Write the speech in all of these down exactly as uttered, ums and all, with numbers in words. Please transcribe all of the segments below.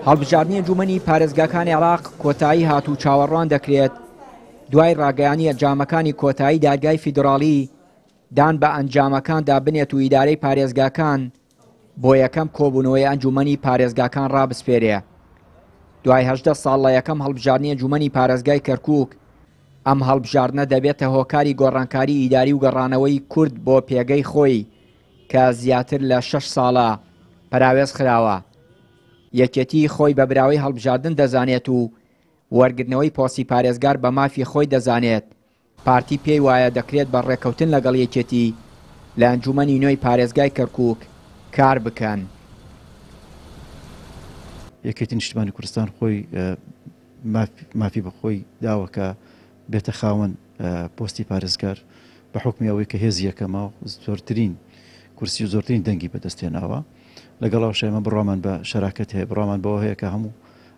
هەڵبژاردنی ئەنجومەنی پارێزگاکانی عێراق کۆتایی هات و چاوەڕوان دەکرێت دوای ڕاگەیانی ئەنجامەکانی کۆتایی دادگای فیدراڵی دان بە ئەنجامەکاندا بنێت و ئیدارەی پارێزگاکان بۆ یەکەم کۆبوونەوەی ئەنجومەنی پارێزگاکان ڕابسپێرێ. دوای هەژدە ساڵ لە یەکەم هەڵبژاردنی ئەنجومەنی پارێزگای کەرکووک، ئەم هەڵبژاردنە دەبێتە هۆکاری گۆڕانکاری ئیداری و گەڕانەوەی کورد بۆ پێگەی خۆی کە زیاتر لە شەش ساڵە پەراوێز خراوە. یەکێتی خۆی بە براوەی هەڵبژاردن دەزانێت و وەرگرتنەوەی پۆستی پارێزگار بە مافی خۆی دەزانێت. پارتی پێی وایە دەکرێت بە ڕێککەوتن لەگەڵ یەکێتی لە ئەنجومەنی نوێی پارێزگای کەرکووک کار بکەن. یەکێتی نیشتمانی کوردستان خۆی مافی بە خۆی داوە کە بێتە خاوەن پۆستی پارێزگار بە حکمی ئەوەی کە هێزی یەکەمە و زۆرترین کورسی و زۆرترین دەنگی بەدەستهێناوە. لەگەڵ ئەوەش ئێمە بڕوامان بە شەراکەت هەیە، بڕوامان بەوە هەیە کە هەموو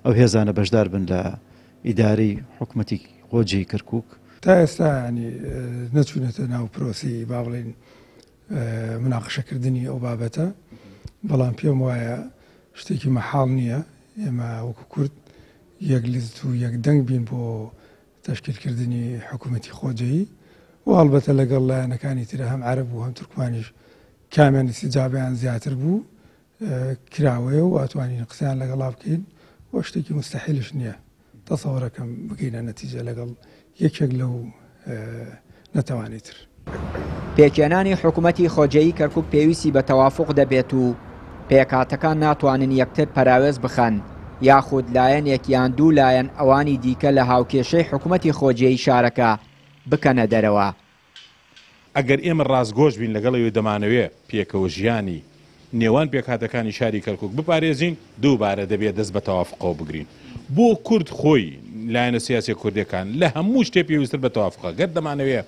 ئەو هێزانە بەشدار بن لە ئیدارەی حکوومەتی خۆجێی کەرکووک. تا ئێستا ینی نەچوونەتە ناو پرۆسی با بڵێین مناقشەکردنی ئەو بابەتە، بەڵام پێم وایە شتێکی مەحاڵ نییە ئێمە وەکو کورد یەک لیست و یەک دەنگ بین بۆ تەشکیلکردنی حکوومەتی خۆجێی و هەڵبەتە لەگەڵ لایەنەکانی ترە هەم عەرەب و هەم تورکمانیش کامیان ئیستیجابیان زیاتر بوو کراوەیە و ئەتوانین قسەیان لەگەڵا بکەین و شتێکی مستحیلش نییە تەسەوەرەکەم بگەینە نەتیجە لەگەڵ یەکێک لەو نەتەوانی تر. پێکهێنانی حکوومەتی خۆجێی کەرکووک پێویستی بە تەوافق دەبێت و پێکهاتەکان ناتوانن یەکتر پەراوێز بخەن یاخود لایەنێک یان دوو لایەن ئەوانی دیکە لە هاوکێشەی حکوومەتی خۆجێی شارەکە بکەنە دەرەوە. ئەگەر ئێمە ڕاستگۆش بین لەگەڵ ئەوەی دەمانەوێ پێکەوە ژیانی نێوان پێکهاتەکانی شاری کەرکووک بپارێزین، دووبارە دەبێت دەست بە تەوافقەوە بگرین. بۆ کورد خۆی لایەنە سیاسی کوردەکان لە هەموو شتێ پێویستتر بە تەوافقە. گەر دەمانەوێ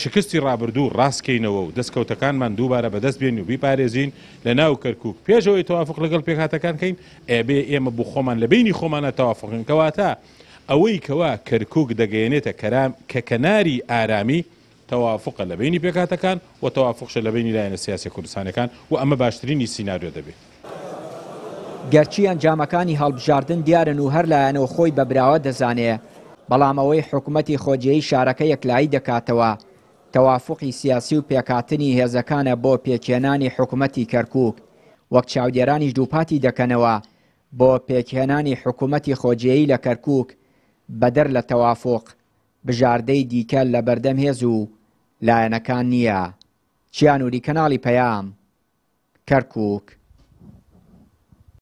شکستی ڕابردوو ڕاستکەینەوە و دەستکەوتەکانمان دووبارە بەدەست بێنین و بیپارێزین لە ناو کەرکووک پێشەوەی تەوافق لەگەڵ پێکهاتەکان کەین، ئەبێ ئێمە بۆ خۆمان لە بینی خۆمانە تەوافقین. کەواتە ئەوەی کەوا کەرکووک دەگەیەنێتە کە کەناری ئارامی تەوافقە لە بینی پێکهاتەکان و تەوافقشە لە بینی لایەنە سیاسی کوردستانەکان و ئەمە باشترینی سیناریۆ دەبێت. گەرچی ئەنجامەکانی هەڵبژاردن دیارن و هەر لایەنەوە خۆی بە براوە دەزانێ، بەڵام ئەوەی حکوومەتی خۆجێی شارەکە یەکلایی دەکاتەوە تەوافقی سیاسی و پێکهاتنی هێزەکانە بۆ پێکهێنانی حکوومەتی کەرکووک، وەک چاودێرانیش دووپاتی دەکەنەوە بۆ پێکهێنانی حکوومەتی خۆجێی لە کەرکووک بەدەر لە تەوافق بژاردەی دیکە لە بەردەم هێز و لایەنەکان نییە. چیانوری، کەناڵی پەیام، کەرکووک.